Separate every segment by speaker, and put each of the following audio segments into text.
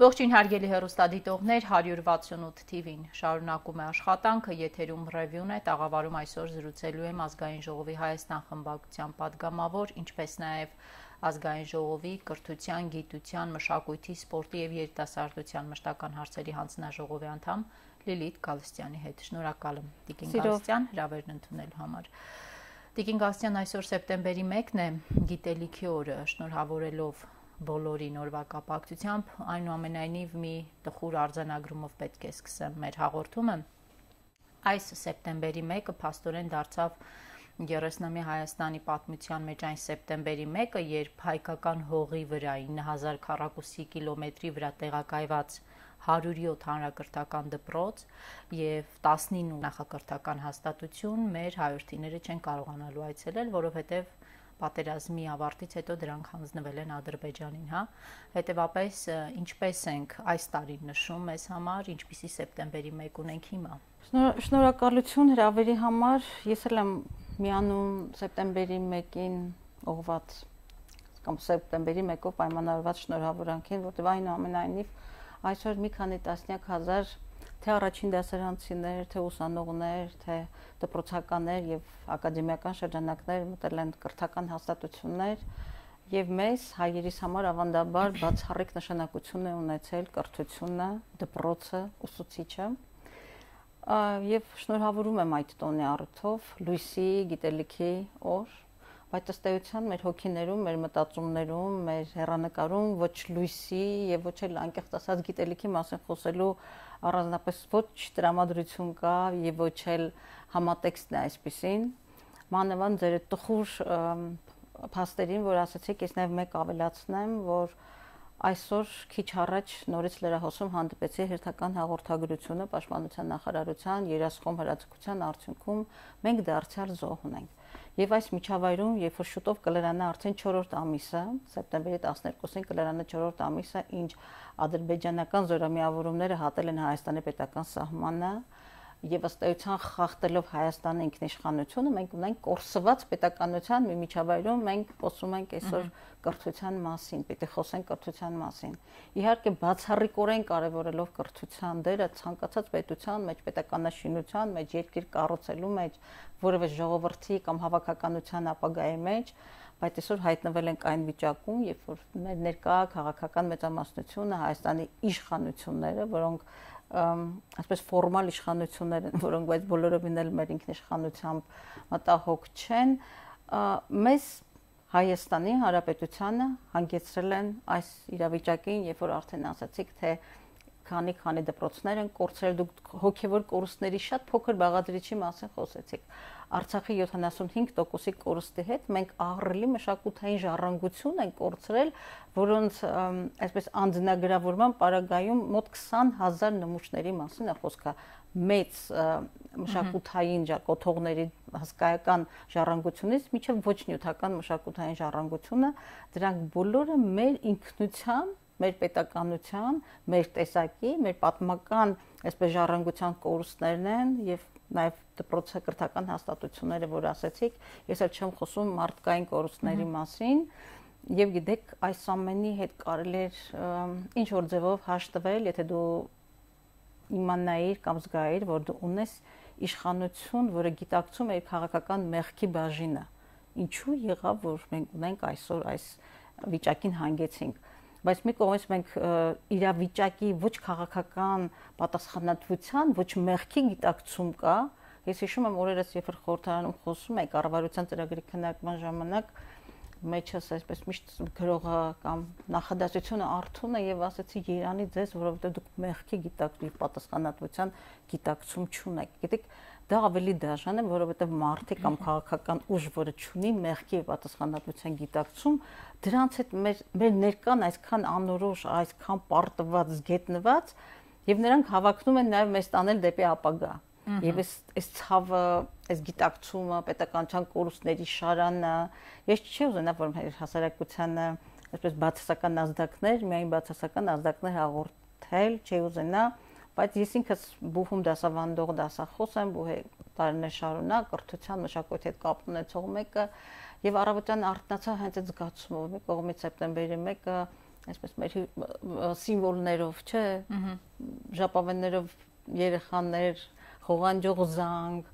Speaker 1: Ողջույն հարգելի հեռուստադիտողներ, 168 TV-ն շարունակում է աշխատանքը, եթերում ռևյուն է, տաղավարում այսօր զրուցելու եմ Ազգային ժողովի Հայաստան խմբակցության падգամավոր, ինչպես նաև Ազգային ժողովի կրթության, գիտության, մշակույթի, սպորտի և երիտասարդության մշտական հարցերի հանձնաժողովի անդամ Լիլիթ Գալստյանի հետ։ Շնորհակալ եմ Տիկին Գալստյան հրավերն ընդունելու համար։ Տիկին Գալստյան, այսօր սեպտեմբերի 1-ն է, գիտելիքի օրը, շնորհավորելով բոլորին օրվա կապակցությամբ, այնուամենայնիվ մի տխուր արձանագրումով պետք է սկսեմ մեր հաղորդումը։ Այս սեպտեմբերի 1-ը փաստորեն դարձավ 30-ամյա Հայաստանի պատմության մեջ այն սեպտեմբերի 1-ը, երբ հայկական հողի վրա 9000 քառակուսի կիլոմետրի վրա տեղակայված 107 հանրակրթական դպրոց և 19 նախակրթական հաստատություն մեր հայրենիները չեն կարողանալու այցելել, որովհետև պատերազմի ավարտից հետո դրանք հանձնվել են Ադրբեջանին, հետևապես ինչպես ենք այս տարին նշում մեզ համար, ինչպիսի սեպտեմբերի 1 ունենք հիմա։
Speaker 2: Շնորհակալություն հրավերի համար, ես էլ եմ միանում սեպտեմբերի 1-ին ուղղված կամ սեպտեմբերի 1-ով պայմանավորված շնորհավորանքին, որտեղ այնուամենայնիվ այսօր մի քանի տասնյակ հազար թե առաջին դասարանցիներ, թե ուսանողներ, թե դպրոցականներ եւ ակադեմիական շրջանակներ մտել են կրթական հաստատություններ եւ մեզ հայերիս համար ավանդաբար բացառիկ նշանակություն է ունեցել կրթությունը, դպրոցը, ուսուցիչը եւ շնորհավորում եմ այդ տոնի առիթով լույսի, գիտելիքի օր, բայց ըստ էության մեր հոգիներում, մեր մտածումներում, մեր հեռանկարում ոչ լույսի եւ ոչ էլ անկեղծ ասած գիտելիքի մասին խոսելու առանձնապես ոչ տրամադրություն կա եւ ոչ էլ համատեքստն է այսպեսին մանավանդ ձեր տխուր փաստերին, որ ասացիք, ես նաեւ մեկ ավելացնեմ, որ այսօր քիչ առաջ նորից լրահոսում հանդիպեցի հերթական հաղորդագրությունը Պաշտպանության նախարարության երասխոմ հրաձգության արդյունքում մենք դարձյալ զոհ ունենք։ Եվ այս միջավայրում, երբ որ շուտով կլրանա արդեն 4-րդ ամիսը, սեպտեմբերի 12-ին կլրանա 4-րդ ամիսը, ինչ ադրբեջանական զորամիավորումները հատել են Հայաստանի պետական սահմանը եւ ըստ էության խախտելով Հայաստանի ինքնիշխանությունը, մենք ունենք կորսված պետականության մի միջավայրում, մենք խոսում ենք այսօր կրթության մասին, պիտի խոսենք կրթության մասին։ Իհարկե բացառիկորեն կարևորելով կրթության դերը ցանկացած պետության մեջ, պետականաշինության մեջ, երկիր կառուցելու մեջ, որևէ ժողովրդի կամ հավաքականության ապագայի մեջ, բայց այսօր հայտնվել ենք այն վիճակում, երբ որ մեր ներկա քաղաքական մեծամասնությունը Հայաստանի իշխանությունները, որոնք այսպես ֆորմալ իշխանություններ են, որոնք բայց բոլորովին էլ մեր ինքնիշխանությամբ մտահոգ չեն, մեզ Հայաստանի Հանրապետությանը հանգեցրել են այս իրավիճակին, երբ որ արդեն ասացիք, թե քանի դպրոցներ են կորցրել, դուք հոգևոր կորուստների շատ փոքր բաղադրիչի մասին խոսեցիք։ Արցախի 75%-ի կորուստի հետ մենք ահռելի մշակութային ժառանգություն ենք կորցրել, որոնց այսպես անձնագրավորման պարագայում մոտ 20,000 նմուշների մասին է խոսքը, մեծ մշակութային կոթողների հսկայական ժառանգությունից մինչև ոչ նյութական մշակութային ժառանգությունը, դրանք բոլորը մեր ինքնության, մեր պետականության, մեր տեսակի, մեր պատմական այսպես ժառանգության կորուստներն են եւ նաեւ դպրոցակրթական հաստատությունները, որ ասացիք, ես էլ չեմ խոսում մարդկային կորուստների մասին եւ գիտեք, այս ամենի հետ կարելի է ինչ որ ձևով հաշտվել, եթե դու իմանայիր կամ զգայիր, որ դու ունես իշխանություն, որը գիտակցում է իր քաղաքական մեղքի բաժինը։ Ինչու եղավ, որ մենք ունենք այսօր այս վիճակին հանգեցինք։ Բայց մի կողմից մենք իրավիճակի ոչ քաղաքական պատասխանատվության, ոչ մեղքի գիտակցում կա։ Ես հիշում եմ օրերս, երբ որ խորհրդարանում խոսում էի կառավարության ծրագրի քննարկման ժամանակ, մեջս այսպես միշտ գրողը կամ նախադասությունը արթուն է եւ ասացի Երանի ձեզ, որովհետեւ դուք մեղքի գիտակցում, պատասխանատվության գիտակցում չունեք։ Գիտեք, դա ավելի դաժան է, որովհետեւ մարդիկ կամ քաղաքական ուժ, որը չունի մեղքի եւ պատասխանատվության գիտակցում, դրանց հետ մեր ներկան այսքան անորոշ, այսքան պարտված, զգետնված եւ նրանք հավակնում են նաեւ մեզ տանել դեպի ապագա։ Եվ այս ցավը, այս գիտակցումը, պետականության կորուստների շարանը, ես չի ուզենա, որ մեր հասարակությանը այսպես բացասական ազդակներ, միայն բացասական ազդակներ հաղորդել, չի ուզենա, բայց ես ինքս բուհում դասավանդող դասախոս եմ, տարիներ շարունակ կրթության մշակույթի հետ կապ ունեցող մեկը եւ առավոտյան արթնացա հենց այդ զգացումով, մի կողմից սեպտեմբերի 1-ը այսպես մեր սիմվոլներով, չէ, ժապավեններով երեխաներ, խողանջող զանգ,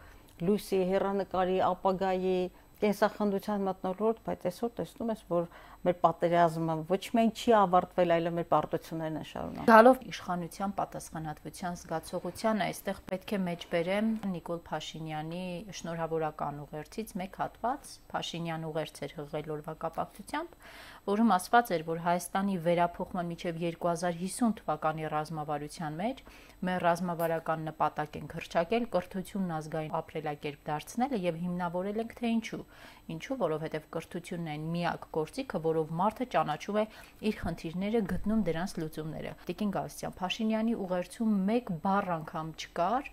Speaker 2: լույսի, հեռանկարի, ապագայի, կենսախնդության մթնոլորտ, բայց այսօր տեսնում ես, որ մեր պատերազմը ոչ միայն չի ավարտվել, այլև մեր պարտություններն են շարունակվում։
Speaker 1: Գալով իշխանության պատասխանատվության զգացողությանը, այստեղ պետք է մեջբերեմ Նիկոլ Փաշինյանի շնորհավորական ուղերձից մեկ հատված։ Փաշինյան ուղերձ էր հղել օրվա կապակցությամբ, որում ասված էր, որ Հայաստանի վերափոխման մինչև 2050 թվականի ռազմավարության մեջ մեր ռազմավարական նպատակ ենք հռչակել կրթությունն ազգային ապրելակերպ դարձնելը եւ հիմնավորել ենք թե ինչու, որովհետեւ կրթությունն այն միակ գործիքը, որով մարդը ճանաչում է իր խնդիրները, գտնում դրանց լուծումները։ Տիկին Գալստյան, Փաշինյանի ուղերձում մեկ բառ անգամ չկար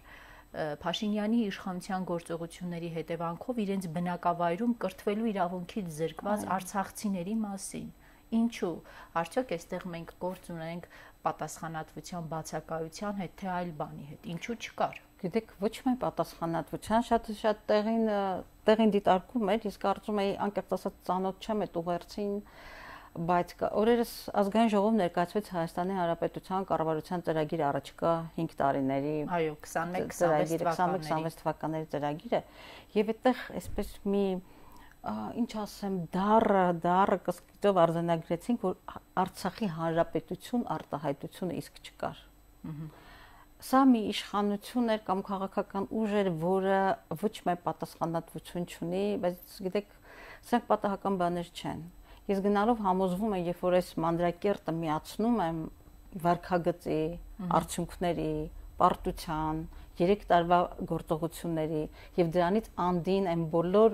Speaker 1: Փաշինյանի իշխանության գործողությունների հետևանքով իրենց բնակավայրում կրթվելու իրավունքից զրկված արցախցիների մասին։ Ինչու? Արդյոք այստեղ մենք գործ ունենք պատասխանատվության բացակայության հետ, թե այլ բանի հետ։ Ինչու չկար։
Speaker 2: Գիտեք, ոչ միայն պատասխանատվության, շատ տեղին դիտարկում էր, իսկ կարծում էի անկեղծ ասած ծանոթ չեմ այդ ուղերձին, բայց օրերս ազգային ժողով ներկայացվեց Հայաստանի Հանրապետության կառավարության ծրագիր առաջիկա 5 տարիների։
Speaker 1: Այո, 21-26
Speaker 2: թվականների ծրագիրը, եւ այդտեղ այսպես մի ինչ ասեմ, դառը կսկիթով արձանագրեցինք, որ Արցախի Հանրապետություն արտահայտությունը իսկ չկար։ Սա մի իշխանություն էր կամ քաղաքական ուժ էր, որը ոչ միայն պատասխանատվություն չունի, բայց գիտեք, սրանք պատահական բաներ չեն։ Ես գնալով համոզվում եմ, երբ որ այս մանրակերտը միացնում եմ վարքագծի, արդյունքների, պարտության, 3 տարվա գործողությունների եւ դրանից անդին այն բոլոր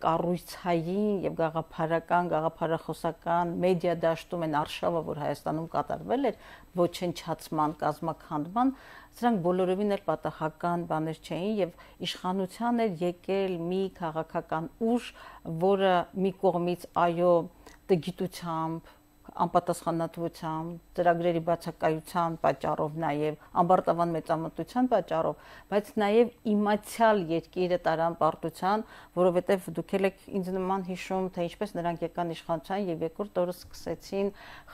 Speaker 2: կառույցային եւ գաղափարախոսական մեդիա դաշտում են արշավը, որ Հայաստանում կատարվել էր, ոչնչացման, կազմաքանդման, սրանք բոլորովին էլ պատահական բաներ չէին եւ իշխանության էր եկել մի քաղաքական ուժ, որը մի կողմից այո տգիտությամբ, անպատասխանատվությամբ, ծրագրերի բացակայության պատճառով նաև ամբարտավան մեծամտության պատճառով, բայց նաև իմացյալ երկիրը տարան պարտության, որովհետև դուք եք ինձ նման հիշում, թե ինչպես նրանք եկան իշխանության եւ երկրորդ օրը սկսեցին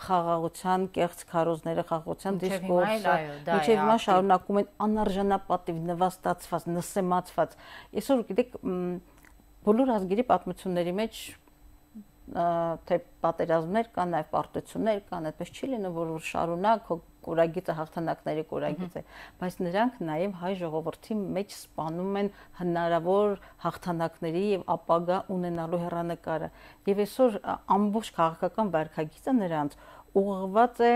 Speaker 2: խաղաղության կեղծ քարոզները, խաղաղության դիսկուրսը, մինչև հիմա շարունակում են անարժանապատիվ, նվաստացված, նսեմացված։ Այսօր գիտեք, բոլոր ազգերի պատմությունների մեջ թե պատերազմներ կան, նաև պարտություններ կան, այդպես չի լինում, որ շարունակ կորագիծը հաղթանակների կորագիծ է, բայց նրանք նաև հայ ժողովրդի մեջ սպանում են հնարավոր հաղթանակների եւ ապագա ունենալու հեռանկարը։ Եվ այսօր ամբողջ քաղաքական վարքագիծը նրանց ուղղված է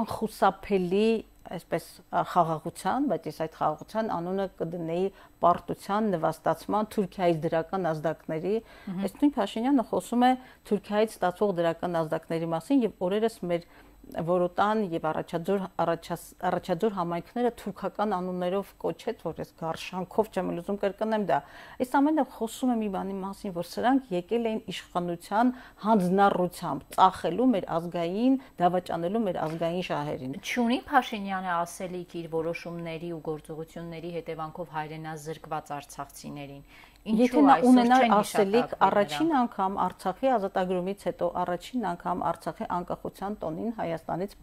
Speaker 2: անխուսափելի այսպես խաղաղության, բայց ես այդ խաղաղության անունը կդնեի պարտության, նվաստացման, Թուրքիայից դրական ազդակների, այս նույն Փաշինյանը խոսում է Թուրքիայից ստացող դրական ազդակների մասին եւ օրերս մեր Որոտան եւ առաջաձոր համայնքները թուրքական անուններով կոչեց, որ ես գարշանքով չեմ լուծում կրկնեմ դա։ Այս ամենը խոսում է մի բանի մասին, որ սրանք եկել էին իշխանության հանձնառությամբ, ծախելու մեր ազգային, դավաճանելու մեր ազգային շահերին։
Speaker 1: Չունի Փաշինյանը ասելիք իր որոշումների ու գործողությունների հետևանքով հայրենազրկված արցախցիներին։
Speaker 2: Եթե նա ունենար ասելիք առաջին անգամ Արցախի ազատագրումից հետո, առաջին անգամ Արցախի անկախության տոնին Հայաստանից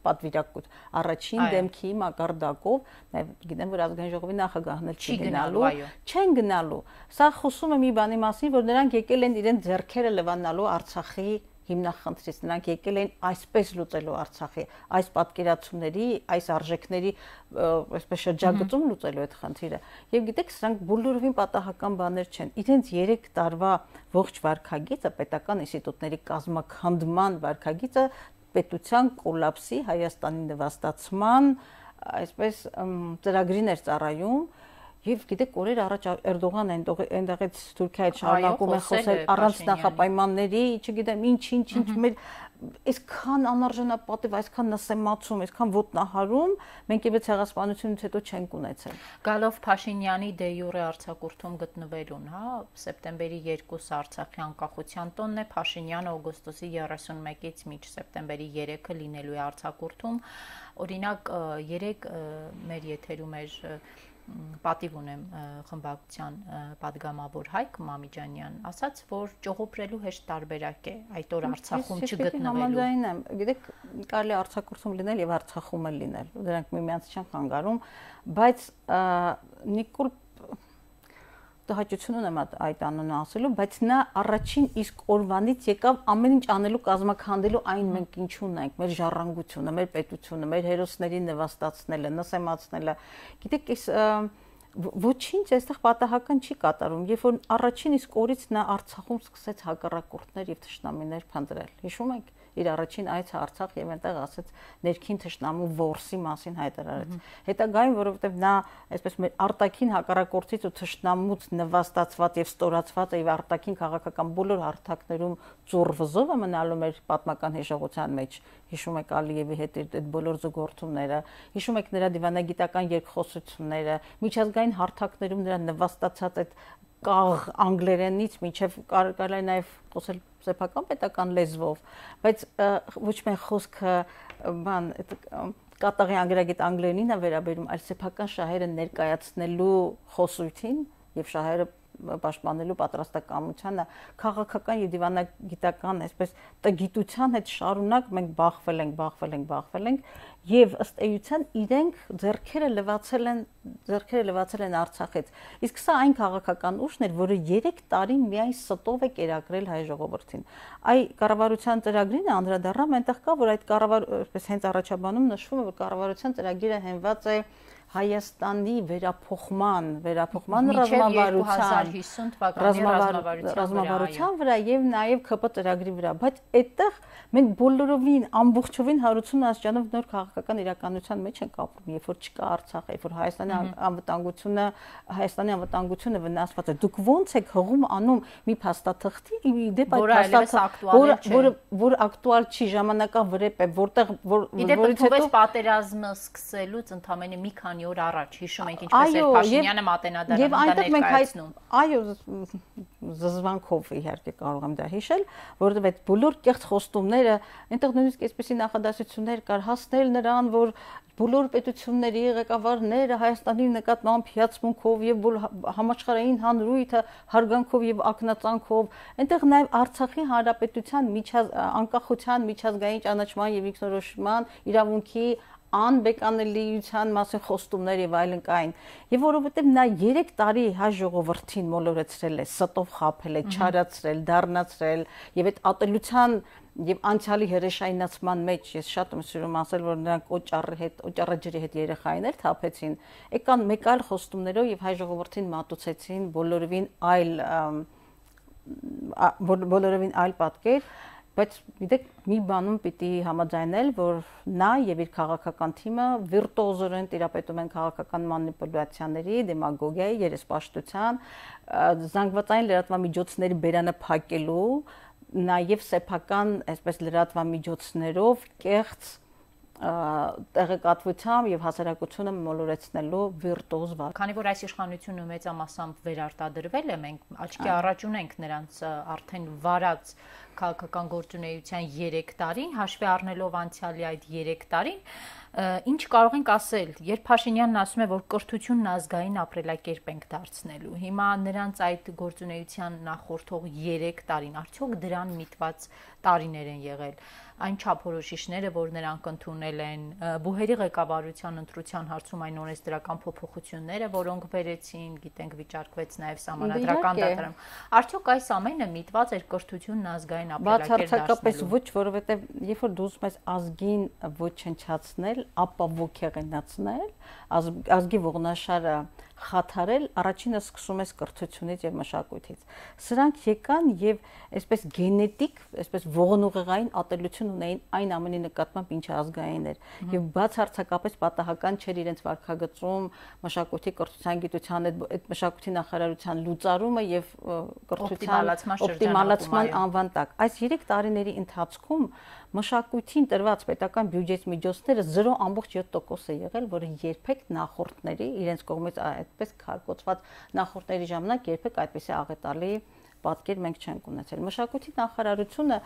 Speaker 2: պատվիրակություն, առաջին դեմքի մակարդակով, նաև գիտեմ, որ ազգային ժողովի նախագահն էլ չի գնալու, չեն գնալու։ Սա խոսում է մի բանի մասին, որ նրանք եկել են իրենց ձեռքերը լվանալու Արցախի հիմնախնդրից, նրանք եկել են այսպես լուծելու Արցախի, այս պատկերացումների, այս արժեքների այսպես շրջագծում լուծելու այդ խնդիրը։ Եվ գիտեք, սրանք բոլորովին պատահական բաներ չեն։ Իրենց 3 տարվա ողջ վարքագիծը, պետական ինստիտուտների կազմաքանդման վարքագիծը պետության կոլապսի, Հայաստանի նվաստացման, այսպես ծրագրին էր ծառայում։ Եվ գիտեք, օրեր առաջ Էրդողանը այնտեղից Թուրքիայից շարունակում է խոսել առանց նախապայմանների, չգիտեմ ինչ մեր այսքան անարժանապատիվ, այսքան նսեմացում, այսքան ոտնահարում մենք եւս ցեղասպանությունից հետո չենք ունեցել։
Speaker 1: Գալով Փաշինյանի դե յուրե արձակուրդում գտնվելուն, հա, սեպտեմբերի 2 Արցախի անկախության տոնն է, Փաշինյանը օգոստոսի 31-ից մինչ սեպտեմբերի 3-ը լինելու է արձակուրդում։ Օրինակ 3 մեր եթերում էր պատիվ ունեմ խմբակցության падգամավոր Հայկ Մամիջանյան ասաց, որ ճողոպրելու հեշտ տարբերակ է այդ օր Արցախում չգտնվելու։
Speaker 2: Համաձայն եմ, գիտեք, կարելի Արցախում լինել եւ Արցախում էլ լինել, դրանք միմյանց չեն խանգարում, բայց Նիկոլ տհաճություն ունեմ այդ անունը ասելու, բայց նա առաջին իսկ օրվանից եկավ ամեն ինչ անելու կազմակերպելու այն մենք ինչ ունենք, մեր ժառանգությունը, մեր պետությունը, մեր հերոսներին նվաստացնելը, նսեմացնելը։ Գիտեք, այս ոչինչ այստեղ պատահական չի կատարում, երբ որ առաջին իսկ օրից նա Արցախում սկսեց հակառակորդներ եւ թշնամիներ փնտրել։ Հիշում եք իր առաջին այցը Արցախ եւ այնտեղ ասեց ներքին թշնամու որսի մասին հայտարարեց։ Հետագայում, որովհետեւ նա այսպես մեր արտաքին հակառակորդից ու թշնամուց նվաստացված եւ ստորացված եւ արտաքին քաղաքական բոլոր հարթակներում ծուռվզով է մնալու մեր պատմական հիշողության մեջ։ Հիշում եք Ալիևի հետ այդ բոլոր զուգորդումները, հիշում եք նրա դիվանագիտական երկխոսությունները, միջազգային հարթակներում նրա նվաստացած այդ կաղ անգլերենից մինչև կարելի նաև խոսել սեփական պետական լեզվով, բայց ոչ միայն խոսքը բան կատաղի անգլերագետ անգլերենին է վերաբերում, այլ սեփական շահերը ներկայացնելու խոսույթին եւ շահերը պաշտպանելու պատրաստակամությանը քաղաքական եւ դիվանագիտական այսպես տգիտության հետ շարունակ մենք բախվել ենք եւ ըստ էության իրենք ձեռքերը լվացել են Արցախից իսկ սա այն քաղաքական ուժն էր որը 3 տարի միայն ստով է կերակրել հայ ժողովրդին այ կառավարության ծրագրին անդրադառնամ այնտեղ կա որ այդ այսպես հենց առաջաբանում նշվում է որ կառավարության ծրագիրը հենված է Հայաստանի վերափոխման ռազմավարության վրա եւ նաեւ ԿՊ ծրագրի վրա, բայց այդտեղ մենք բոլորովին ամբողջովին հարություն ասճանով նոր քաղաքական իրականության մեջ ենք ապրում, երբ որ չկա Արցախ, երբ որ Հայաստանի անվտանգությունը վնասված է։ Դուք ո՞նց եք հողում անում մի փաստաթղթի, դեպ այդ փաստաթղթը, որ ակտուալ չի, ժամանակավրեպ է, որտեղ
Speaker 1: որից հետո պատերազմը սկսելուց ընդամենը մի քանի օր առաջ հիշում ենք ինչպես էր Փաշինյանը մատենադարանում ներկայացնում։
Speaker 2: Այո, զզվանքով իհարկե կարող եմ դա հիշել, որովհետև այդ բոլոր կեղծ խոստումները, այնտեղ նույնիսկ այսպիսի նախադասություններ կար հասնել նրան, որ բոլոր պետությունների ղեկավարները Հայաստանի նկատմամբ հիացմունքով եւ համաշխարհային հանրույթը հարգանքով եւ ակնածանքով, այնտեղ նաեւ Արցախի հանրապետության անկախության միջազգային ճանաչման եւ ինքնորոշման իրավունքի անբեկանելիության մասին խոստումներ եւ այլն կային եւ որովհետեւ նա 3 տարի հայ ժողովրդին մոլորեցրել է, ստով խաբել է, չարացրել, դառնացրել եւ այդ ատելության եւ անցյալի հրեշայնացման մեջ ես շատ եմ սիրում ասել որ նրանք օճառաջրի հետ երեխայներ թափեցին, եկան մեկ այլ խոստումներով եւ հայ ժողովրդին մատուցեցին բոլորովին այլ պատկեր բայց գիտեք մի բանում պիտի համաձայնել որ նա եւ իր քաղաքական թիմը վիրտուոզորեն տիրապետում են քաղաքական մանիպուլյացիաների, դեմագոգիայի, երեսպաշտության, զանգվածային լրատվամիջոցների բերանը փակելու, նաեւ սեփական այսպես լրատվամիջոցներով կեղծ տեղեկատվությամբ եւ հասարակությունը մոլորեցնելու վիրտուոզ վարք։
Speaker 1: Քանի որ այս իշխանությունը մեծամասամբ վերարտադրվել է, մենք աչքի առաջ ունենք նրանց արդեն վարած քաղաքական գործունեության 3 տարին, հաշվի առնելով անցյալի այդ 3 տարին, ինչ կարող ենք ասել, երբ Փաշինյանն ասում է, որ կրթությունն ազգային ապրելակերպ ենք դարձնելու, հիմա նրանց այդ գործունեության նախորդող 3 տարին, արդյոք դրան միտված տարիներ են եղել, այն չափորոշիչները, որ նրանք ընդունել են, բուհերի ղեկավարության ընտրության հարցում այն օրենսդրական փոփոխությունները, որոնք բերեցին, գիտենք վիճարկվեց նաև սահմանադրական դատարանում, արդյոք այս ամենը միտված էր կրթությունն ազգային ապրելակերպ դարձնելու։
Speaker 2: Բացարձակապես ոչ, որովհետև երբ որ դու ուզում ես ազգին ոչնչացնել, ապա ոգեղենացնել, ազգի ողնաշարը խաթարել, առաջինը սկսում ես կրթությունից եւ մշակույթից։ Սրանք եկան եւ այսպես գենետիկ, այսպես ողնուղեղային ատելություն ունեին այն ամենի նկատմամբ, ինչը ազգային էր։ Եվ բացարձակապես պատահական չէր իրենց վարքագծում մշակույթի, կրթության, գիտության այդ մշակույթի նախարարության լուծարումը եւ կրթության օպտիմալացման անվան տակ։ Այս 3 տարիների ընթացքում մշակույթին տրված պետական բյուջեի միջոցները 0.7% է եղել, որը երբեք նախորդների իրենց կողմից այդպես քարկոծված նախորդների ժամանակ երբեք այդպեսի աղետալի պատկեր մենք չենք ունեցել։ Մշակույթի նախարարությունը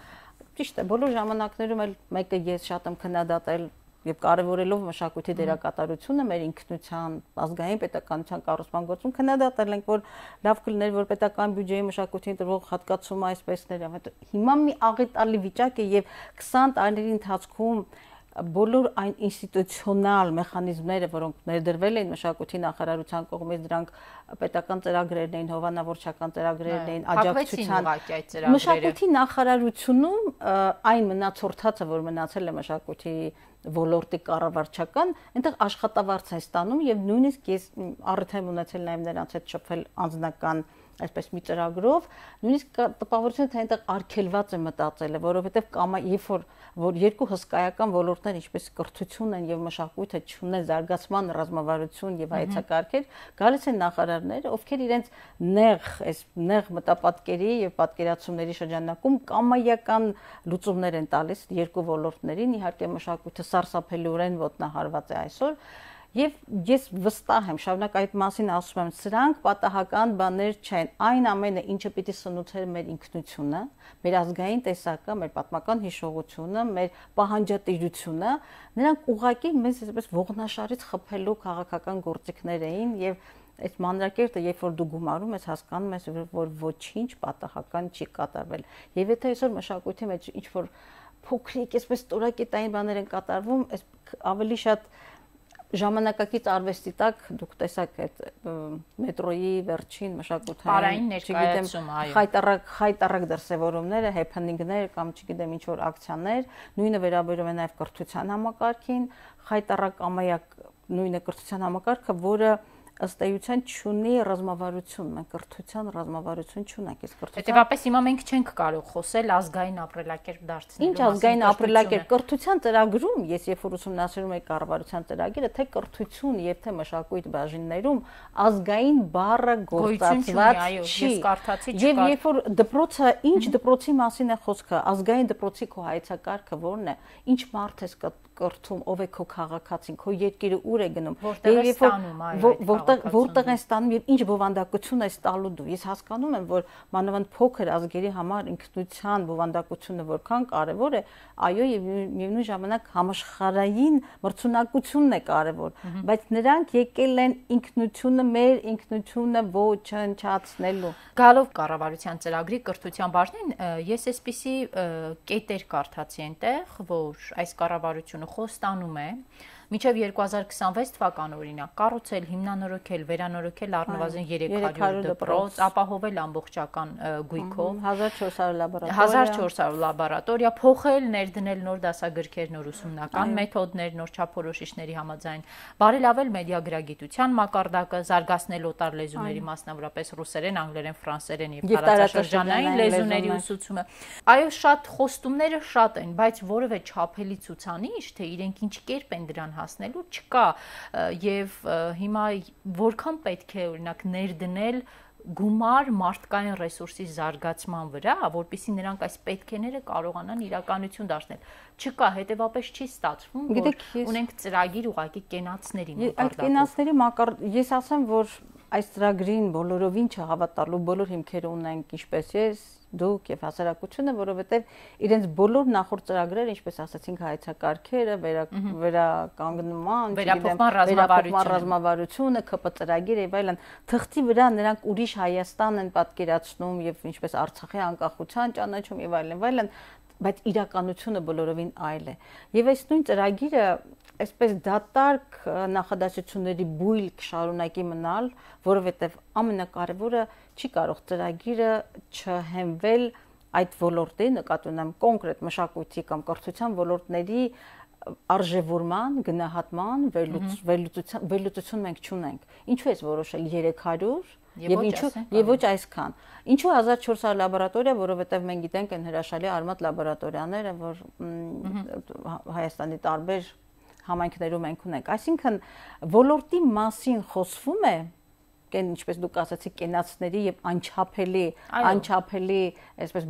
Speaker 2: ճիշտ է, բոլոր ժամանակներում էլ մեկը ես շատ եմ քննադատել եւ կարեւորելով մշակույթի դերակատարությունը մեր ինքնության, ազգային պետականության կառուցման գործում քննադատել ենք, որ լավ կլիներ, որ պետական բյուջեի մշակույթին տրվող հատկացումը այսպեսներ, հիմա մի աղետալի վիճակ է եւ 20 տարիների ընթացքում բոլոր այն ինստիտուցիոնալ մեխանիզմները, որոնք ներդրվել էին մշակույթի նախարարության կողմից, դրանք պետական ծրագրերն էին, հովանավորչական ծրագրերն էին, աջակցության մշակույթի նախարարությունում այն մնացորդածը, որ մնացել է մշակույթի ոլորտի կառավարչական, այնտեղ աշխատավարձ է ստանում եւ նույնիսկ ես առիթ եմ ունեցել նաեւ նրանց հետ շփվել անձնական այսպես մի ծրագրով, նույնիսկ տպավորություն թե այնտեղ արգելված է մտածելը, որովհետև կամ երբ որ երկու հսկայական ոլորտներ, ինչպես կրթությունն են եւ մշակույթը չունեն զարգացման ռազմավարություն եւ հայեցակարգեր, գալիս են նախարարներ, ովքեր իրենց նեղ մտապատկերի եւ պատկերացումների շրջանակում կամայական լուծումներ են տալիս երկու ոլորտներին, իհարկե մշակույթը սարսափելիորեն ոտնահարված է այսօր Եվ ես վստահ եմ, շարունակ այդ մասին ասում եմ, սրանք պատահական բաներ չեն, այն ամենը, ինչը պիտի սնուցեր մեր ինքնությունը, մեր ազգային տեսակը, մեր պատմական հիշողությունը, մեր պահանջատիրությունը, նրանք ուղղակի մեզ այսպես ողնաշարից խփելու քաղաքական գործիքներ էին եւ այդ մանրակերտը, երբ որ դու գումարում ես, հասկանում ես, որ ոչինչ պատահական չի կատարվել։ Եվ եթե այսօր մշակույթի մեջ ինչ որ փոքրիկ, այսպես տորակետային բաներ են կատարվում, ավելի շատ ժամանակակից արվեստի տակ դուք տեսաք այդ մետրոյի վերջին մշակութային, չգիտեմ, խայտարակ դրսևորումները, հեփնինգներ կամ չգիտեմ ինչ որ ակցիաներ, նույնը վերաբերում է նաև կրթության համակարգին, խայտարակ ամայակ նույնը կրթության համակարգը, որը ըստ էության չունի ռազմավարություն, մենք կրթության ռազմավարություն չունենք, իսկ կրթության
Speaker 1: Հետևաբար հիմա մենք չենք կարող խոսել ազգային ապրելակերպ դարձնելու
Speaker 2: Ինչ ազգային ապրելակերպ կրթության ծրագրում, ես երբ որ ուսումնասիրում եի կառավարության ծրագիրը, թե կրթություն եւ թե մշակույթ բաժիններում ազգային բառը գործածված չի։ Եվ երբ որ դպրոցը, ինչ դպրոցի մասին է խոսքը, ազգային դպրոցի քո հայեցակարգը ո՞րն է, ինչ մարդ ես կրթում, ով է քո քաղաքացին, քո երկիրը ուր է գնում, որտեղ են ստանում եւ ինչ բովանդակություն է ստալու դու։ Ես հասկանում եմ, որ մանավանդ փոքր ազգերի համար ինքնության բովանդակությունը որքան կարեւոր է, այո, եւ միևնույն ժամանակ համաշխարհային մրցունակությունն է կարեւոր, բայց նրանք եկել են ինքնությունը, մեր ինքնությունը ոչնչացնելու։
Speaker 1: Գալով կառավարության ծրագրի կրթության բաժնին, ես այսպիսի կետեր կարդացի այնտեղ, որ այս կառավարությունը խոստանում է Մինչև 2026 թվական օրինակ կառուցել, հիմնանորոգել, վերանորոգել առնվազն 300 դպրոց, ապահովել ամբողջական գույքով 1400 լաբորատորիա, փոխել, ներդնել նոր դասագրքեր, նոր ուսումնական մեթոդներ, նոր չափորոշիչների համաձայն, բարելավել մեդիագրագիտության մակարդակը, զարգացնել օտար լեզուների, մասնավորապես ռուսերեն, անգլերեն, ֆրանսերեն եւ տարածաշրջանային լեզուների ուսուցումը։ Այո, շատ խոստումները շատ են, բայց որևէ չափելի ցուցանիշ, թե իրենք ինչ կերպ են դրան հասնելու չկա եւ հիմա որքան պետք է օրինակ ներդնել գումար մարդկային ռեսուրսի զարգացման վրա, որպեսզի նրանք այս պետքեները կարողանան իրականություն դարձնել։ Չկա, հետեւապես չի ստացվում, որ ունենք ծրագիր ուղղակի կենացների մակարդակով։
Speaker 2: Այդ կենացների ես ասեմ, որ այս ծրագրին բոլորովին չհավատալու բոլոր հիմքերը ունենք, ինչպես ես, դուք եւ հասարակությունը, որովհետեւ իրենց բոլոր նախորդ ծրագրերը, ինչպես ասացինք, հայեցակարգերը, վերականգնման, վերափոխման ռազմավարությունը, ԿՊ ծրագիրը եւ այլն, թղթի վրա նրանք ուրիշ Հայաստան են պատկերացնում եւ ինչպես Արցախի անկախության ճանաչում եւ այլն, բայց իրականությունը բոլորովին այլ է։ Եվ այս նույն ծրագիրը այսպես դատարկ նախադասությունների բույլ կշարունակի մնալ, որովհետև ամենակարևորը չի կարող ծրագիրը չհենվել այդ ոլորտի, նկատի ունեմ կոնկրետ մշակույթի կամ կրթության ոլորտների արժևորման, գնահատման, վերլուծություն մենք չունենք։ Ինչու է որոշել 300 Եվ ոչ այսքան։ Ինչու 1400 լաբորատորիա, որովհետև մենք գիտենք այն հրաշալի արմատ լաբորատորիաները, որ Հայաստանի տարբեր համայնքներում ենք ունենք։ Այսինքն ոլորտի մասին խոսվում է, ինչպես դուք ասացիք, կենացների եւ անչափելի, այսպես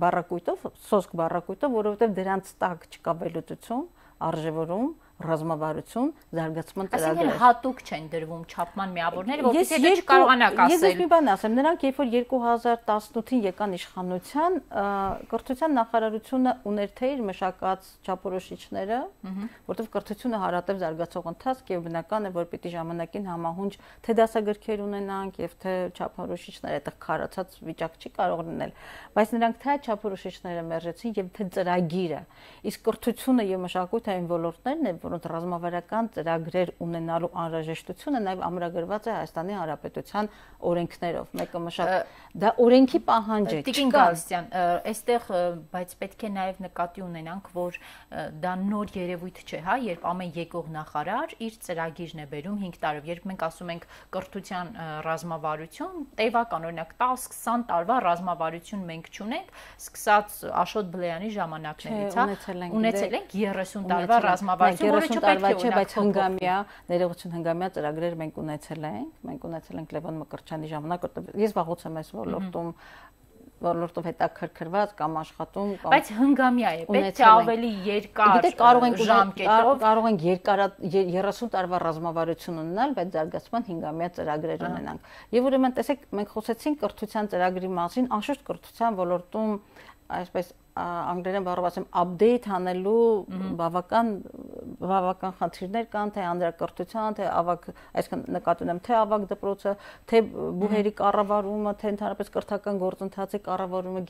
Speaker 2: բառակույտով, սոսկ բառակույտով, որովհետև դրանց տակ չկա վերլուծություն, արժևորում, ռազմավարություն, զարգացման ծրագրեր։
Speaker 1: Այսինքն հատուկ չեն դրվում չափման միավորները, որովհետեւ դե չկարողանաք ասել։
Speaker 2: Ես մի բան ասեմ, նրանք երբ որ 2018-ին եկան իշխանության, կրթության նախարարությունը ուներ թե իր մշակած չափորոշիչները, որտեղ կրթությունը հարատև զարգացող ընթացք եւ բնական է, որ պիտի ժամանակին համահունչ թե դասագրքեր ունենանք եւ թե չափորոշիչները այդտեղ քարացած վիճակ չի կարող լինել, բայց նրանք թե չափորոշիչները մերժեցին եւ թե ծրագիրը։ Իսկ կրթությունը եւ մշակութային ոլորտներն են, որոնց ռազմավարական ծրագրեր ունենալու անհրաժեշտությունը նաեւ ամրագրված է Հայաստանի Հանրապետության օրենքներով։ Մեկը դա օրենքի պահանջ է։
Speaker 1: Տիկին Գալստյան, այստեղ բայց պետք է նաեւ նկատի ունենանք, որ դա նոր երևույթ չէ, հա, երբ ամեն եկող նախարար իր ծրագիրն է բերում 5 տարով, երբ մենք ասում ենք կրթության ռազմավարություն, տևական օրինակ 10-20 տարվա ռազմավարություն մենք չունենք, սկսած Աշոտ Բլեյանի ժամանակներից, հա, ունեցել ենք 30 տարվա ռազմավարություն, որը չպետք է
Speaker 2: բայց հնգամյա ներողություն հնգամյա ծրագրեր մենք ունեցել ենք Լևոն Մկրտչյանի ժամանակ, ես վաղուց եմ այս ոլորտով հետաքրքրված կամ աշխատում կամ
Speaker 1: բայց հնգամյա է, պետք է ավելի երկար ժամկետով
Speaker 2: կարող ենք 30 տարվա ռազմավարություն ունենալ, բայց զարգացման 5-ամյա ծրագրեր ունենանք։ Եվ ուրեմն տեսեք, մենք խոսեցինք կրթության ծրագրի մասին, անշուշտ կրթության ոլորտում այսպես անգլերեն բառով ասեմ update անելու բավական խնդիրներ կան, թե անդրակրթության, թե ավագ, այսինքն նկատի ունեմ թե ավագ դպրոցը, թե բուհերի կառավարումը, թե ընդհանրապես կրթական գործընթացի կառավարումը,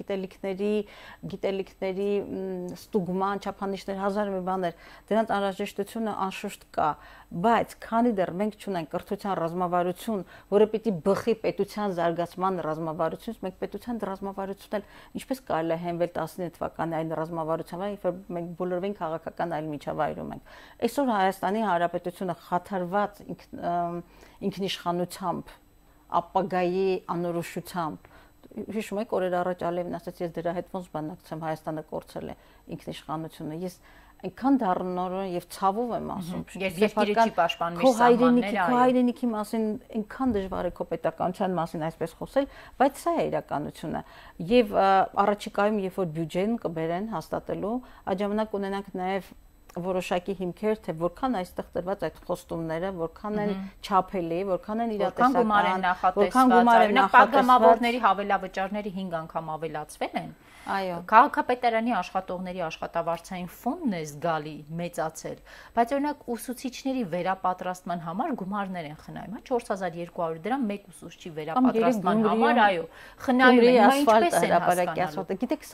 Speaker 2: գիտելիքների ստուգման, չափանիշներ, հազար մի բաներ, դրանց անհրաժեշտությունը անշուշտ կա, բայց քանի դեռ մենք չունենք կրթության ռազմավարություն, որը պիտի բխի պետության զարգացման ռազմավարությունից, մենք պետության ռազմավարությունն ինչպես կարելի է հենվել 19 թվականի այն ռազմավարությանը, երբ մենք բոլորովին քաղաքական այլ միջավայրում ենք։ Այսօր Հայաստանի Հանրապետությունը խաթարված ինքնիշխանությամբ, ապագայի անորոշությամբ, հիշում եք օրեր առաջ Ալիևն ասաց, ես դրա հետ ոնց բանակցեմ, Հայաստանը կորցրել է ինքնիշխանությունը։ Ես այնքան դառնորեն եւ ցավով եմ ասում,
Speaker 1: երկիրը չի պաշտպանում իր սահմանները,
Speaker 2: քո հայրենիքի մասին այնքան դժվար է քո պետականության մասին այսպես խոսել, բայց սա է իրականությունը։ Եվ առաջիկայում, երբ որ բյուջեն կբերեն հաստատելու, այդ ժամանակ ունենանք նաեւ որոշակի հիմքեր, թե որքան այստեղ տրված այդ խոստումները, որքան են չափելի, որքան են իրատեսական,
Speaker 1: որքան գումար են նախատեսված, պատգամավորների հավելավճարները 5 անգամ ավելացվել են։
Speaker 2: Այո,
Speaker 1: քաղաքապետարանի աշխատողների աշխատավարձային ֆոնդն է զգալի մեծացել, բայց օրինակ ուսուցիչների վերապատրաստման համար գումարներ են խնայում, հա 4200 դրամ մեկ ուսուցչի վերապատրաստման համար, այո, խնայում են, ինչպես են հասկանալու։
Speaker 2: Գիտեք,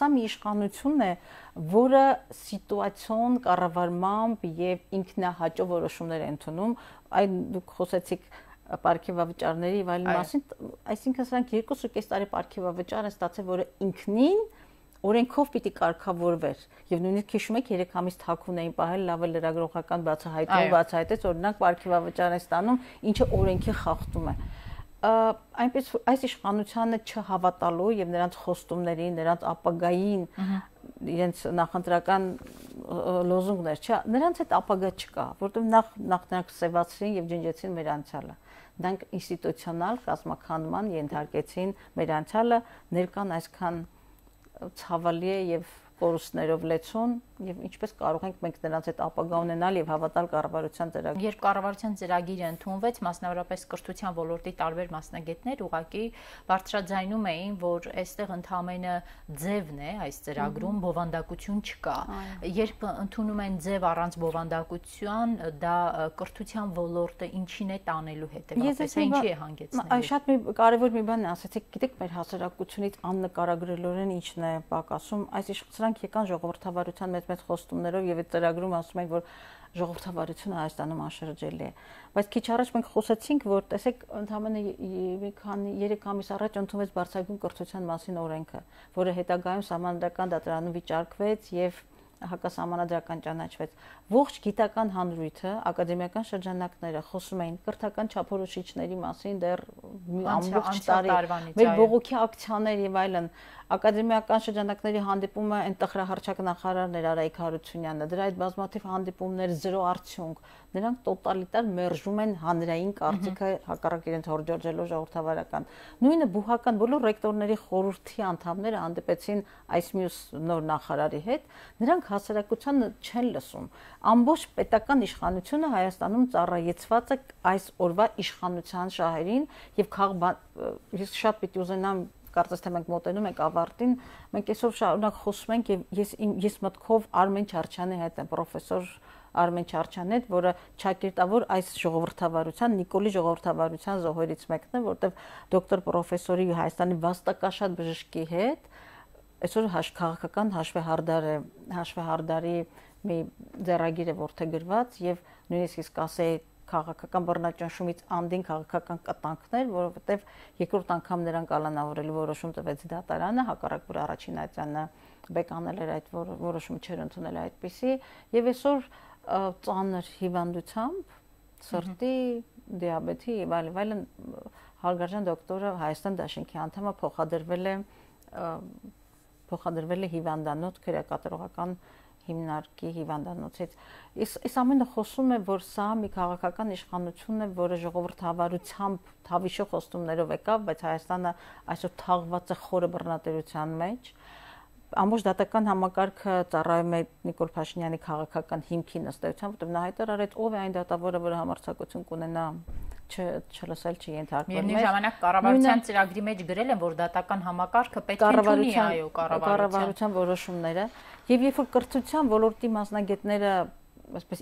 Speaker 2: սա մի իշխանություն է, որը սիտուացիոն կառավարմամբ եւ ինքնահաճո որոշումներ է ընդունում, այն դուք խոսեցիք պարգևավճարների եւ այլն մասին, այսինքն սրանք 2.5 տարի պարգևավճար են ստացել, որը ինքնին օրենքով պիտի կարգավորվեր եւ նույնիսկ հիշում եք 3 ամիս թաքուն էին պահել, լավ է լրագրողական բացահայտեց, օրինակ պարգևավճար են ստանում, ինչը օրենքի խախտում է։ Այնպես այս իշխանությանը չհավատալու եւ նրանց խոստումներին, նրանց ապագային իրենց նախընտրական լոզունգներ, չէ, նրանց այդ ապագա չկա, որովհետեւ նախ նրանք սեվացրին եւ ջնջեցին մեր անցյալը։ Դրանք ինստիտուցիոնալ կազմաքանդման ենթարկեցին մեր անցյալը, ներկան այսքան ցավալի է եւ կորուստներով լեցուն եւ ինչպես կարող ենք մենք նրանց այդ ապագա ունենալ եւ հավատալ կառավարության ծրագրին։
Speaker 1: Երբ կառավարության ծրագիրը ընդունվեց, մասնավորապես կրթության ոլորտի տարբեր մասնագետներ ուղղակի բարձրաձայնում էին, որ այստեղ ընդհանրապես ձևն է այս ծրագրում, բովանդակություն չկա։ Երբ ընդունում են ձև առանց բովանդակության, դա կրթության ոլորտը ինչին է տանելու հետեւաբար, ինչի է հանգեցնելու։
Speaker 2: Շատ մի կարևոր մի բան ասացիք, գիտեք, մեր հասարակությունից աննկարագրելորեն ինչն է պակասում, այս սրանք եկան ժողովրդավարության մեծ խոստումներով եւ այդ ծրագրում ասում են, որ ժողովրդավարությունը Հայաստանում անշրջելի է։ Բայց քիչ առաջ մենք խոսեցինք, որ տեսեք, ընդհանրապես 3 ամիս առաջ ընդունվեց բարձրագույն կրթության մասին օրենքը, որը հետագայում Սահմանադրական դատարանում վիճարկվեց եւ հակասահմանադրական ճանաչվեց։ Ողջ գիտական հանրույթը, ակադեմիական շրջանակները խոսում էին կրթական չափորոշիչների մասին դեռ ամբողջ տարի։ Մեր բողոքի ակցիաներ եւ այլն, ակադեմիական շրջանակների հանդիպումը այնտեղ հրահարչակ նախարարներ Արայիկ Հարությունյանը, դրա այդ բազմաթիվ հանդիպումներ զրո արդյունք, նրանք տոտալիտար մերժում են հանրային կարծիքը հակառակ իրենց հորդորժելով ժողովրդավարական։ Նույնը բուհական բոլոր ռեկտորների խորհրդի անդամները հանդիպեցին այս մյուս նոր նախարարի հետ, նրանք հասարակությանը չեն լսում։ Ամբողջ պետական իշխանությունը Հայաստանում ծառայեցված է այս օրվա իշխանության շահերին եւ ես շատ պիտի ուզենամ կարծես թե մենք մոտենում ենք ավարտին, մենք այսօր շարունակ խոսում ենք եւ ես մտքով Արմեն Չարչյանի հետ եմ, պրոֆեսոր Արմեն Չարչյանն է, որը ճակերտավոր այս ժողովրդավարության, Նիկոլի ժողովրդավարության զոհերից մեկն է, որտեղ դոկտոր պրոֆեսորի Հայաստանի վաստակաշատ բժշկի հետ այսօր քաղաքական հաշվեհարդարի մի ձեռագիր է որդեգրված եւ նույնիսկ իսկ ասեի քաղաքական բռնաճնշումից անդին քաղաքական կտանքներ, որովհետև երկրորդ անգամ նրան կալանավորելու որոշում տվեց դատարանը, հակառակ որ առաջին այցանը բեկանել էր այդ որոշումը չեր ընդունել այդպիսի, եւ այսօր ծանր հիվանդությամբ, սրտի, դիաբետի եւ այլն հարգարժան դոկտորը Հայաստան Դաշինքի անդամը փոխադրվել է հիվանդանոց քրեակատարողական հիմնարկի հիվանդանոցից։ Այս ամենը խոսում է, որ սա մի քաղաքական իշխանություն է, որը ժողովրդավարությամբ թավիշո խոստումներով եկավ, բայց Հայաստանը այսօր թաղված է խորը բռնատիրության մեջ։ Ամբողջ դատական համակարգը ծառայում է Նիկոլ Փաշինյանի քաղաքական հիմքին ըստ էության, որտեղ նա հայտարարեց ով է այն դատավորը, որը համարձակություն կունենա չլսել չենթարկվել։
Speaker 1: Միևնույն ժամանակ կառավարության ծրագրի մեջ գրել են, որ դատական համակարգը պետք է ընդունի այո կառավարության
Speaker 2: որոշումները, եւ երբ որ կրթության ոլորտի մասնագետները այսպես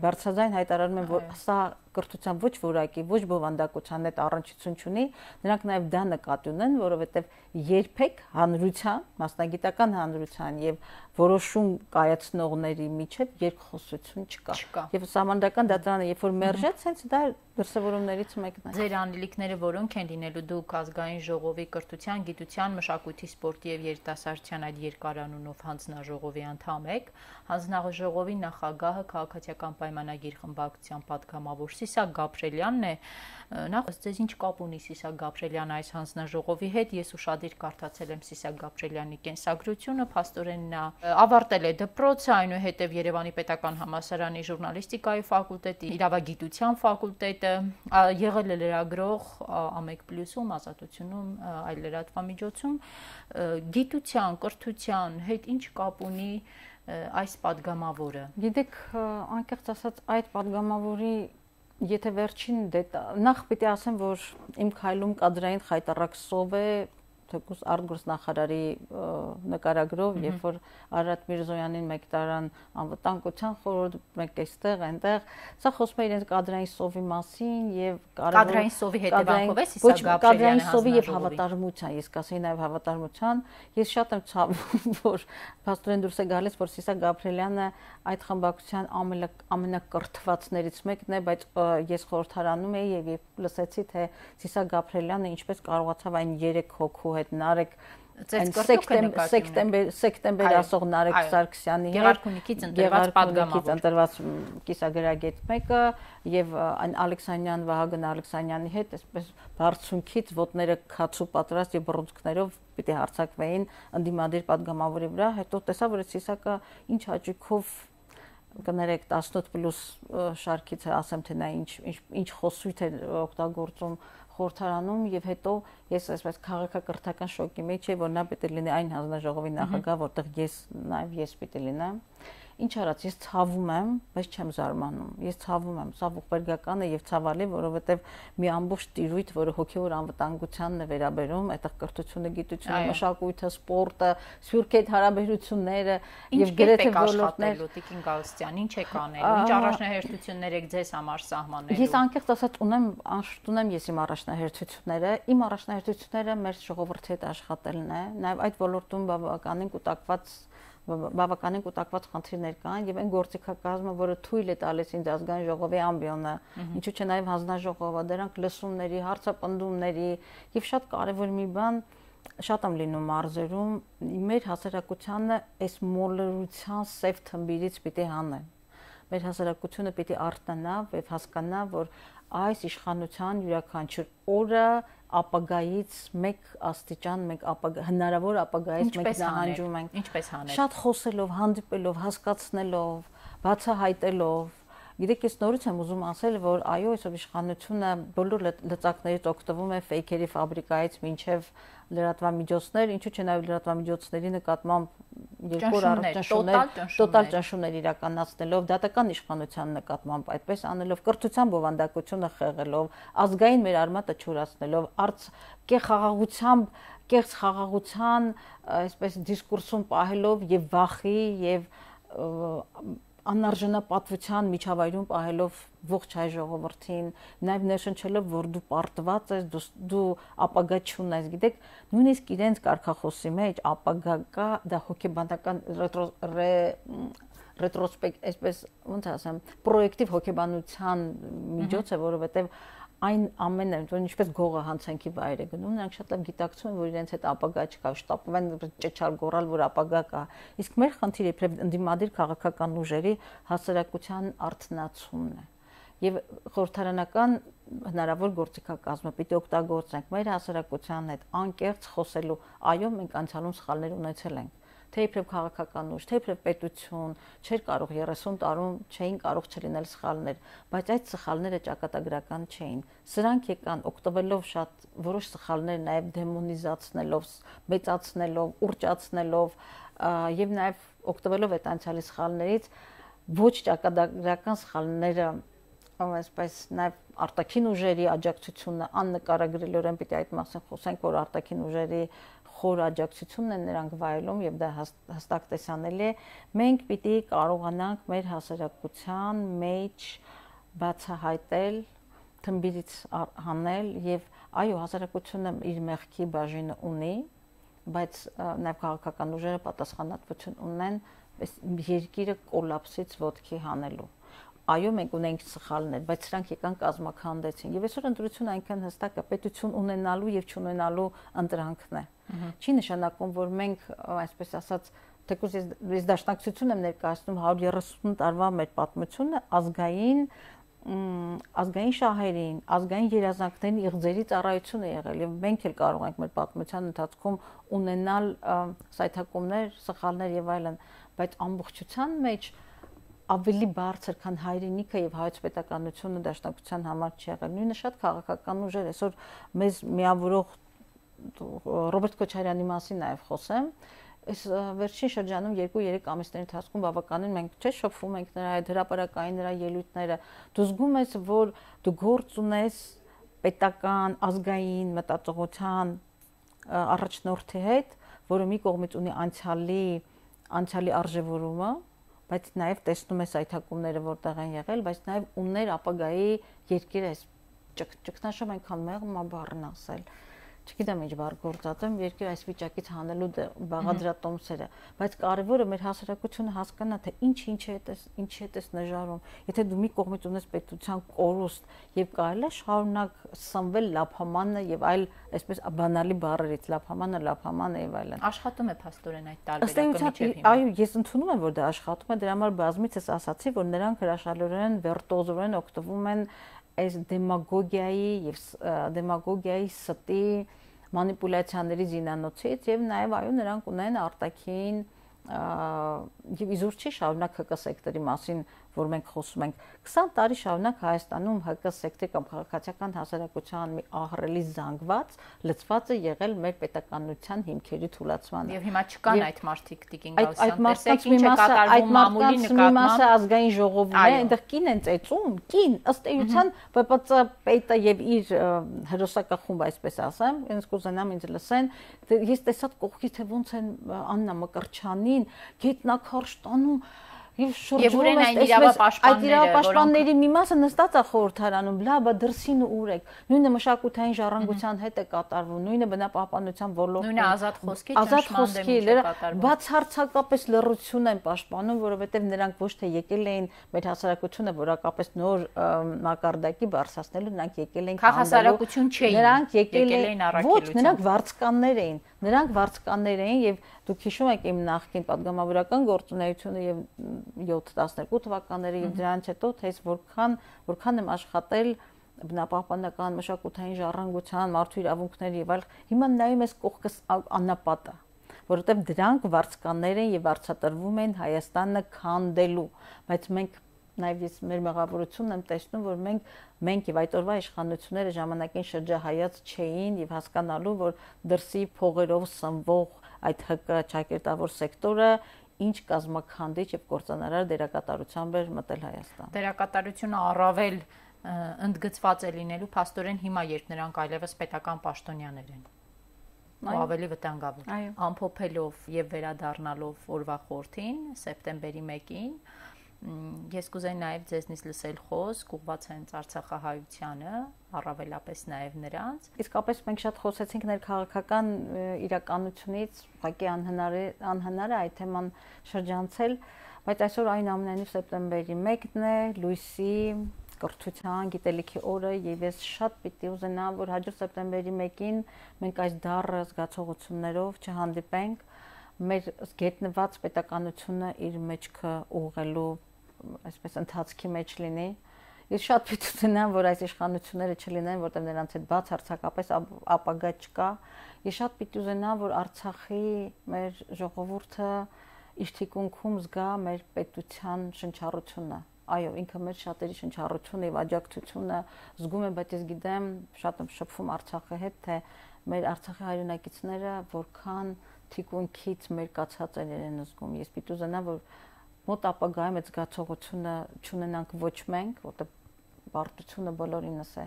Speaker 2: բարձրաձայն հայտարարում են, որ սա կրթության ոչ որակի, ոչ բովանդակության հետ առնչություն չունի, նրանք նաև դա նկատի ունեն, որովհետև երբեք հանրության, մասնագիտական հանրության եւ որոշում կայացնողների միջև երկխոսություն չկա։ Եվ սահմանադրական դատարանը երբ որ մերժեց, հենց դա դրսևորումներից մեկն է։
Speaker 1: Ձեր անելիքները որոնք են լինելու դուք ազգային ժողովի կրթության, գիտության, մշակույթի, սպորտի եւ երիտասարդության այդ երկարանունով հանձնաժողովի անդամ եք, հանձնաժողովի նախագահը քաղաքացիական պայմանագիր խմբակցության պատգամավոր Սիսակ Գաբրելյանն է, նախ ձեզ ինչ կապ ունի Սիսակ Գաբրելյանը այս հանձնաժողովի հետ, ես ուշադիր կարդացել եմ Սիսակ Գաբրելյանի կենսագրությունը, փաստորեն նա ավարտել է դպրոցը, այնուհետև Երևանի պետական համալսարանի ժուրնալիստիկայի ֆակուլտետի, իրավագիտության ֆակուլտետը, եղել է լրագրող Ամեկ+-ում, Ազատությունում, այլ լրատվամիջոցում, գիտության, կրթության հետ ինչ կապ ունի այս պատգամավորը։
Speaker 2: Գիտեք, անկեղծ ասած այդ պատգամավորի եթե վերջին նախ պիտի ասեմ, որ իմ քայլում կադրային խայտառակ սով է թեկուզ արտգործնախարարի նկարագրով, երբ որ Արարատ Միրզոյանին մեկ տարան անվտանգության խորհուրդ, մեկ էստեղ, այնտեղ, սա խոսում է իրենց կադրային սովի մասին եւ
Speaker 1: կադրային սովի հետևանքով է Սիսակ Գաբրելյանը
Speaker 2: կադրային սովի եւ հավատարմության, ես կասեի նաեւ հավատարմության, ես շատ եմ ցավում, որ փաստորեն դուրս է գալիս, որ Սիսակ Գաբրելյանը այդ խմբակցության ամենակրթվածներից մեկն է, բայց ես խորհրդարանում էի եւ լսեցի, թե Սիսակ Գաբրելյանը ինչպես կարողացավ այն 3 հոգու հետ Նարեկ սեպտեմբեր ասող Նարեկ Սարգսյանի
Speaker 1: Գեղարքունիքից
Speaker 2: ընտրված կիսագրագետ մեկը եւ այն Ալեքսանյան Վահագն Ալեքսանյանի հետ այսպես բարձունքից ոտները քացու պատրաստ եւ բռունցքներով պիտի հարցակվեին ընդդիմադիր պատգամավորի վրա, հետո տեսա որ Սիսակը ինչ հաճույքով կներեք 18+ շարքից ասեմ թե նա ինչ խոսույթ է օգտագործում խորհրդարանում եւ հետո ես այսպես քաղաքակրթական շոկի մեջ եմ, որ նա պետք է լինի այն հանձնաժողովի նախագահ, որտեղ ես պիտի լինեմ։ Ինչ արած, ես ցավում եմ, բայց չեմ զարմանում։ Ես ցավում եմ, սա ողբերգական է եւ ցավալի, որովհետեւ մի ամբողջ տիրույթ, որը հոգեոր անվտանգությանն է վերաբերում, այդտեղ կրթությունը, գիտությունը, մշակույթը, սպորտը, սփյուռքի հետ հարաբերությունները եւ գրեթե ոլորտներ։
Speaker 1: Տիկին Գալստյան, ինչ եք անելու, ինչ առաջնահերթություններ եք ձեզ համար սահմանելու։
Speaker 2: Ես անկեղծ ասած անշուշտ ես իմ առաջնահերթությունները, իմ առաջնահերթությունները մեր ժողովրդի հետ աշխատելն է, նաեւ այդ ոլորտում բավականին կուտակված խնդիրներ կան եւ այն գործիքակազմը, որը թույլ է տալիս ինձ ազգային ժողովի ամբիոնը, ինչու՞ չէ նաեւ հանձնաժողովը, դրանք լսումների, հարցապնդումների եւ շատ կարեւոր մի բան շատ եմ լինում մարզերում, մեր հասարակությանը այս մոլորության սև թմբիրից պիտի հանեն։ մեր հասարակությունը պիտի արթնանա եւ հասկանա, որ այս իշխանության յուրաքանչյուր օրը ապագայից մեկ աստիճան, մեկ հնարավոր ապագայից մեկ նահանջում ենք։
Speaker 1: Ինչպես անել։
Speaker 2: Շատ խոսելով, հանդիպելով, հասկացնելով, բացահայտելով։ Գիտեք, ես նորից եմ ուզում ասել, որ այո, այսօր իշխանությունը բոլոր լծակներից օգտվում է ֆեյքերի ֆաբրիկայից մինչև լրատվամիջոցներ, ինչու՞ չէ նաև լրատվամիջոցների նկատմամբ տոտալ ճնշումներ իրականացնելով, դատական իշխանության նկատմամբ այդպես անելով, կրթության բովանդակությունը խեղելով, ազգային մեր արմատը չորացնելով, կեղծ խաղաղության, այսպես դիսկուրսում պահելով եւ վախի եւ անարժանապատվության միջավայրում պահելով ողջ հայ ժողովրդին, նաև ներշնչելով, որ դու պարտված ես, դու ապագա չունես, գիտեք, նույնիսկ իրենց կարգախոսի մեջ ապագա կա, դա հոգեբանական ռետրոսպեկտ, այսպես ոնց ասեմ, պրոյեկտիվ հոգեբանության միջոց է, որովհետև այն ամենը, որ ինչպես գողը հանցանքի վայր է գնում, նրանք շատ լավ գիտակցում են, որ իրենց հետ ապագա չկա, շտապում են ճեչալ գոռալ, որ ապագա կա։ Իսկ մեր խնդիրը իբրև ընդդիմադիր քաղաքական ուժերի հասարակության արթնացումն է։ Եվ խորհրդարանական հնարավոր գործիքակազմը պիտի օգտագործենք մեր հասարակության հետ անկեղծ խոսելու, այո, մենք անցյալում սխալներ ունեցել ենք։ Թե իբրև քաղաքական ուժ, թե իբրև պետություն, չէր կարող 30 տարում չէին կարող չլինել սխալներ, բայց այդ սխալները ճակատագրական չէին։ Սրանք եկան օգտվելով շատ որոշ սխալներ նաև դեմոնիզացնելով, մեծացնելով, ուռճացնելով եւ նաև օգտվելով այդ անցյալի սխալներից ոչ ճակատագրական սխալները այսպես նաև արտաքին ուժերի աջակցությունը աննկարագրելիորեն պիտի այդ մասին խոսենք, որ արտաքին ուժերի խոր աջակցությունն են նրանք վայելում եւ դա հստակ տեսանելի է։ Մենք պիտի կարողանանք մեր հասարակության մեջ բացահայտել, թմբիրից հանել եւ այո, հասարակությունը իր մեղքի բաժինը ունի, բայց նաեւ քաղաքական ուժերը պատասխանատվություն ունեն երկիրը կոլապսից ոտքի հանելու։ Այո, մենք ունենք սխալներ, բայց սրանք եկան կազմաքանդեցին։ Եվ այսօր ընտրությունը այնքան հստակ է, պետություն ունենալու եւ չունենալու ընտրանքն է։ Չի նշանակում, որ մենք, այսպես ասած, թեկուզ ես դաշնակցություն եմ ներկայացնում 130 տարվա մեր պատմությունը ազգային շահերին, ազգային երազանքներին իղձերի ծառայություն է եղել եւ մենք էլ կարող ենք մեր պատմության ընթացքում ունենալ սայթակումներ, սխալներ եւ այլն, բայց ամբողջության մեջ ավելի բարձր, քան հայրենիքը եւ հայոց պետականությունը դաշնակցության համար չի եղել։ Նույնը շատ քաղաքական ուժեր, այսօր մեզ միավորող Ռոբերտ Քոչարյանի մասին նաև խոսեմ, այս վերջին շրջանում 2-3 ամիսների ընթացքում բավականին մենք չէ շփվում ենք նրա հետ, հրապարակային նրա ելույթները, դու զգում ես, որ դու գործ ունես պետական, ազգային մտածողության առաջնորդի հետ, որը մի կողմից ունի անցյալի արժևորումը, բայց նաև տեսնում ես այթակումները որտեղ են եղել, բայց նաև ուներ ապագայի երկիրը, ճգնաժամ այնքան մեղմ բառն ասել։ Չգիտեմ ինչ բառ գործածեմ, երկիր այս վիճակից հանելու բաղադրատոմսերը, բայց կարևորը մեր հասարակությունը հասկանա, թե ինչի հետ է նժարում։ Եթե դու մի կողմից ունես պետության կորուստ եւ կարելի է շարունակ սնվել լափամանը եւ այլ, այսպես բանալի բառերից լափամանը եւ այլն։
Speaker 1: Աշխատում է փաստորեն այդ տարբերակը միջև հիմա։
Speaker 2: Այո, ես ընդունում եմ, որ դա աշխատում է, դրա համար բազմիցս ասացի, որ նրանք հրաշալիորեն վիրտուոզորեն օգտվում են այս դեմագոգիայի ստի մանիպուլյացիաների զինանոցից եւ նաեւ այո նրանք ունեն արտաքին եւ իզուր չի շարունակ ՀԿ սեկտորի մասին, որ մենք խոսում ենք 20 տարի շարունակ Հայաստանում ՀԿ սեկտորի կամ քաղաքացիական հասարակության մի ահռելի զանգված լծված է եղել մեր պետականության հիմքերի թուլացմանը։
Speaker 1: Եւ հիմա չկան այդ մարդիկ Տիկին Գաուսյան, տեսեք ինչ է կատարվում մամուլի նկատմամբ։
Speaker 2: Մասը ազգային ժողովում է, այնտեղ կին են ծեծում, կին ըստ էության ՊՊՑ պետը եւ իր հերոսակախումբը, այսպես ասեմ, ինձ կուզենամ ինձ լսեն, ես տեսա կողքի թե ոնց են Աննա Մկրտչյանին գետնաքարշ տանում եւ շրջում
Speaker 1: են այդ
Speaker 2: իրավապաշտպանների մի մասը նստած է խորհրդարանում, լավ, դրսին ուր եք, նույնը մշակութային ժառանգության հետ է կատարվում, նույնը բնապահպանության ոլորտում,
Speaker 1: նույնը ազատ խոսքի
Speaker 2: բացարձակապես լռություն են պաշտպանում, որովհետեւ նրանք ոչ թե եկել էին մեր հասարակությունը որակապես նոր մակարդակի բարձրացնելու, նրանք եկել էին
Speaker 1: հասարակություն չէին,
Speaker 2: նրանք եկել էին առաքելության, ոչ, նրանք վարձկաններ էին եւ դուք հիշում եք իմ նախկին պատգամավորական գործունեությունը եւ 17-12 թվականները եւ դրանից հետո թե որքան եմ աշխատել բնապահպանական մշակութային ժառանգության, մարդու իրավունքների եւ այլ, հիմա նայում ես կողքս անապատը, որովհետեւ դրանք վարձկաններ են եւ վարձատրվում են Հայաստանը քանդելու, բայց մենք նաեւ ես մեր մեղավորությունն եմ տեսնում, որ մենք եւ այդ օրվա իշխանությունները ժամանակին շրջահայաց չէին եւ հասկանալու, որ դրսի փողերով սնվող այդ ՀԿ ճակերտավոր սեկտորը ինչ կազմաքանդիչ եւ կործանարար դերակատարությամբ էր մտել Հայաստան։
Speaker 1: Դերակատարությունը առավել ընդգծված է լինելու փաստորեն հիմա, երբ նրանք այլևս պետական պաշտոնյաներ են։ Ու ավելի վտանգավոր։ Ամփոփելով եւ վերադառնալով օրվա խորհրդին, սեպտեմբերի 1-ին, ես կուզեի նաեւ ձեզնից լսել խոսք ուղղված հենց արցախահայությանը, առավելապես նաեւ նրանց։
Speaker 2: Իսկապես մենք շատ խոսեցինք ներքաղաքական իրականությունից, ուղղակի անհնար է այդ թեման շրջանցել, բայց այսօր այնուամենայնիվ սեպտեմբերի 1-ն է, լույսի կրթության, գիտելիքի օրը եւ ես շատ պիտի ուզենամ, որ հաջորդ սեպտեմբերի 1-ին մենք այս դառը զգացողություններով չհանդիպենք, մեր գետնված պետականությունը իր մեջքը ուղղելու այսպես ընթացքի մեջ լինի։ Ես շատ պիտի ուզենամ, որ այս իշխանությունները չլինեն, որտեղ նրանց հետ բացարձակապես ապագա չկա։ Ես շատ պիտի ուզենամ, որ Արցախի մեր ժողովուրդը իր թիկունքում զգա մեր պետության շնչառությունը։ Այո, ինքը մեր շատերի շնչառությունը եւ աջակցությունը զգում եմ, բայց ես գիտեմ, շատ եմ շփվում Արցախի հետ, թե մեր Արցախի հայրենակիցները որքան թիկունքից մեր կացածներ են զգում։ Ես պիտի ուզենամ, որ մոտ ապագայում այդ զգացողությունը չունենանք ոչ մենք, որտեղ բարդությունը բոլորինս է։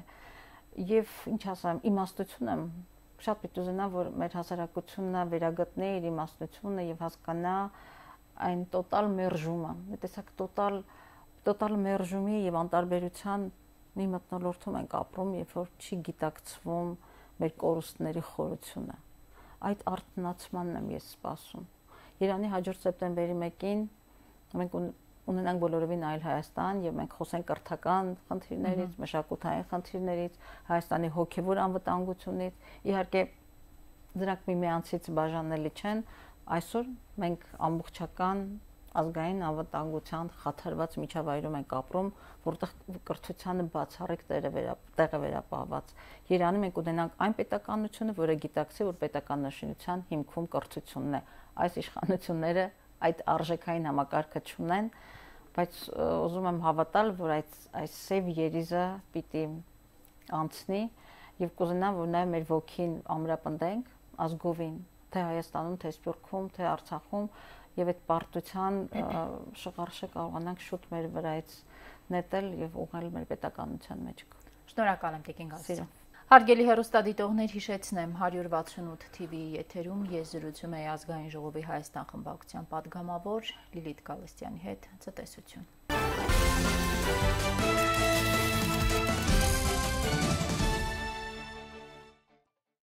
Speaker 2: Եվ ինչ ասեմ, իմաստություն եմ շատ պիտի ուզենամ, որ մեր հասարակությունը վերագտնի իր իմաստությունը եւ հասկանա այն տոտալ մերժումը։ Մի տեսակ տոտալ մերժումի եւ անտարբերության մի մթնոլորտում ենք ապրում, երբ որ չի գիտակցվում մեր կորուստների խորությունը։ Այդ արթնացմանն եմ ես սպասում։ Երանի հաջորդ սեպտեմբերի 1-ին մենք ունենանք բոլորովին այլ Հայաստան եւ մենք խոսենք կրթական խնդիրներից, մշակութային խնդիրներից, Հայաստանի հոգեվոր անվտանգությունից։ Իհարկե դրանք միմյանցից բաժանելի չեն։ Այսօր մենք ամբողջական ազգային անվտանգության խաթարված միջավայրում ենք ապրում, որտեղ կրթությանը բացառիկ տեղ է վերապահված։ Երանի մենք ունենանք այն պետականությունը, որը գիտակցի, որ պետական նշանության հիմքում կրթությունն է։ Այս իշխանությունները այդ արժեքային համակարգը չունեն, բայց ուզում եմ հավատալ, որ այս սև երիզը պիտի անցնի եւ կուզենամ, որ նաեւ մեր ոգին ամրապնդենք ազգովին, թե Հայաստանում, թե Սփյուռքում, թե Արցախում եւ այդ պարտության շղարշը կարողանանք շուտ մեր վրայից նետել եւ ուղղել մեր պետականության մեջ։
Speaker 1: Շնորհակալ եմ Տիկին Գալստյան։ Հարգելի հեռուստադիտողներ, հիշեցնեմ 168 TV-ի եթերում ես զրուցում եի Ազգային ժողովի Հայաստան խմբակցության падգամավոր Լիլիթ Գալստյանի հետ։ Ցտեսություն։